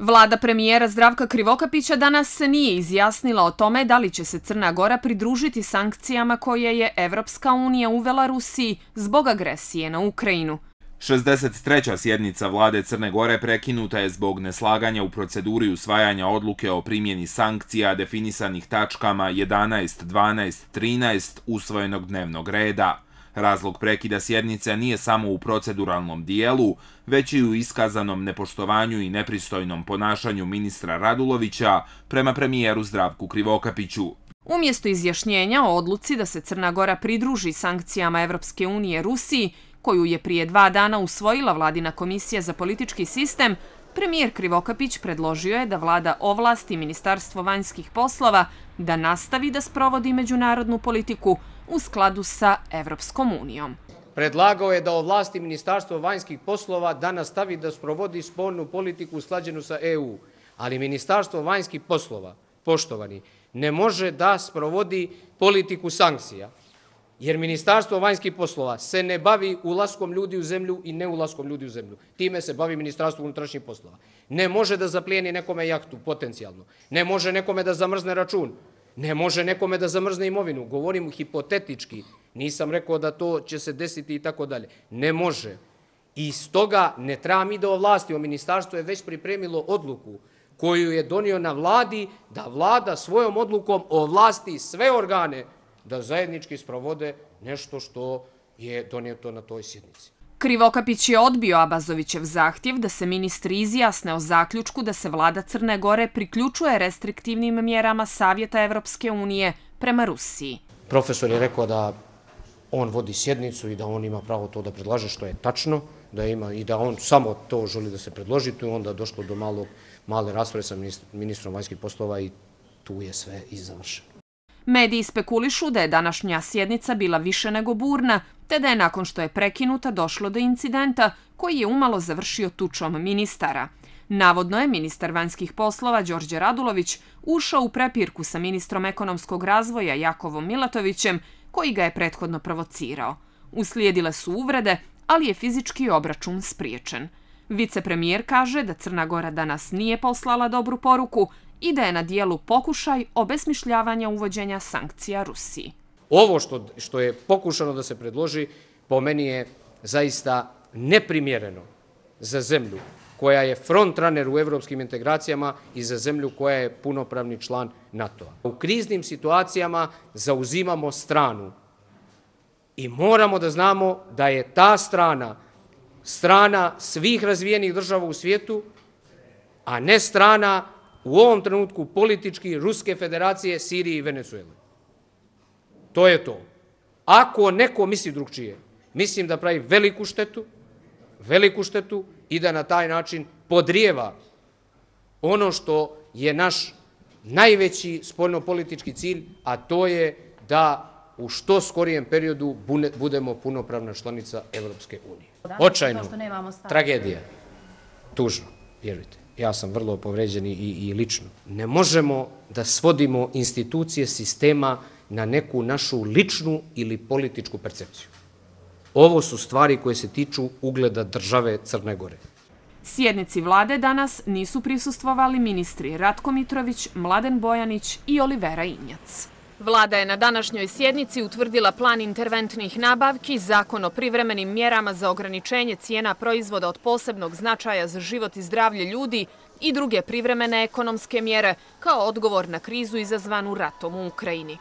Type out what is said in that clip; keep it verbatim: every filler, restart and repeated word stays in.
Vlada premijera Zdravka Krivokapića danas se nije izjasnila o tome da li će se Crna Gora pridružiti sankcijama koje je Evropska unija uvela Rusiji zbog agresije na Ukrajinu. šezdeset treća sjednica vlade Crne Gore prekinuta je zbog neslaganja u proceduri usvajanja odluke o primjeni sankcija definisanih tačkama jedanaest, dvanaest, trinaest usvojenog dnevnog reda. Razlog prekida sjednice nije samo u proceduralnom dijelu, već i u iskazanom nepoštovanju i nepristojnom ponašanju ministra Radulovića prema premijeru Zdravku Krivokapiću. Umjesto izjašnjenja o odluci da se Crna Gora pridruži sankcijama Evropske unije Rusiji, koju je prije dva dana usvojila Vladina komisija za politički sistem, premijer Krivokapić predložio je da vlada ovlasti Ministarstvo vanjskih poslova da nastavi da sprovodi međunarodnu politiku u skladu sa Evropskom unijom. Predlagao je da ovlasti Ministarstvo vanjskih poslova da nastavi da sprovodi spoljnu politiku usklađenu sa E U. Ali Ministarstvo vanjskih poslova, poštovani, ne može da sprovodi politiku sankcija. Jer Ministarstvo vanjskih poslova se ne bavi ulaskom ljudi u zemlju i neulaskom ljudi u zemlju. Time se bavi Ministarstvo unutrašnjih poslova. Ne može da zaplijeni nekome jahtu, potencijalno. Ne može nekome da zamrzne račun. Ne može nekome da zamrzne imovinu. Govorim hipotetički. Nisam rekao da to će se desiti i tako dalje. Ne može. I stoga ne treba mi da ovlastimo. Ministarstvo je već pripremilo odluku koju je donio na vladi da vlada svojom odlukom ovlasti sve organe da zajednički sprovode nešto što je donijeto na toj sjednici. Krivokapić je odbio Abazovićev zahtjev da se ministri izjasne o zaključku da se vlada Crne Gore priključuje restriktivnim mjerama Savjeta Evropske unije prema Rusiji. Profesor je rekao da on vodi sjednicu i da on ima pravo to da predlaže, što je tačno, da ima i da on samo to želi da se predloži, tu je onda došlo do malog, male rasprave sa ministrom vanjskih poslova i tu je sve i završeno. Mediji spekulišu da je današnja sjednica bila više nego burna, te da je nakon što je prekinuta došlo do incidenta koji je umalo završio tučom ministara. Navodno je ministar vanjskih poslova Đorđe Radulović ušao u prepirku sa ministrom ekonomskog razvoja Jakovom Milatovićem, koji ga je prethodno provocirao. Uslijedile su uvrede, ali je fizički obračun spriječen. Vicepremijer kaže da Crna Gora danas nije poslala dobru poruku i da je na dijelu pokušaj obesmišljavanja uvođenja sankcija Rusiji. Ovo što, što je pokušano da se predloži, po meni je zaista neprimjereno za zemlju koja je frontrunner u evropskim integracijama i za zemlju koja je punopravni član NATO-a. U kriznim situacijama zauzimamo stranu i moramo da znamo da je ta strana strana svih razvijenih država u svijetu, a ne strana u ovom trenutku politički Ruske federacije, Sirije i Venezuele. To je to. Ako neko misli drugčije, mislim da pravi veliku štetu, veliku štetu i da na taj način podrijeva ono što je naš najveći spoljnopolitički cilj, a to je da u što skorijem periodu budemo punopravna članica Evropske unije. Očajno, tragedija, tužno, vjerujte. Ja sam vrlo povređen i, i lično. Ne možemo da svodimo institucije sistema na neku našu ličnu ili političku percepciju. Ovo su stvari koje se tiču ugleda države Crne Gore. Sjednici vlade danas nisu prisustvovali ministri Ratko Mitrović, Mladen Bojanić i Olivera Injac. Vlada je na današnjoj sjednici utvrdila plan interventnih nabavki, zakon o privremenim mjerama za ograničenje cijena proizvoda od posebnog značaja za život i zdravlje ljudi i druge privremene ekonomske mjere kao odgovor na krizu izazvanu ratom u Ukrajini.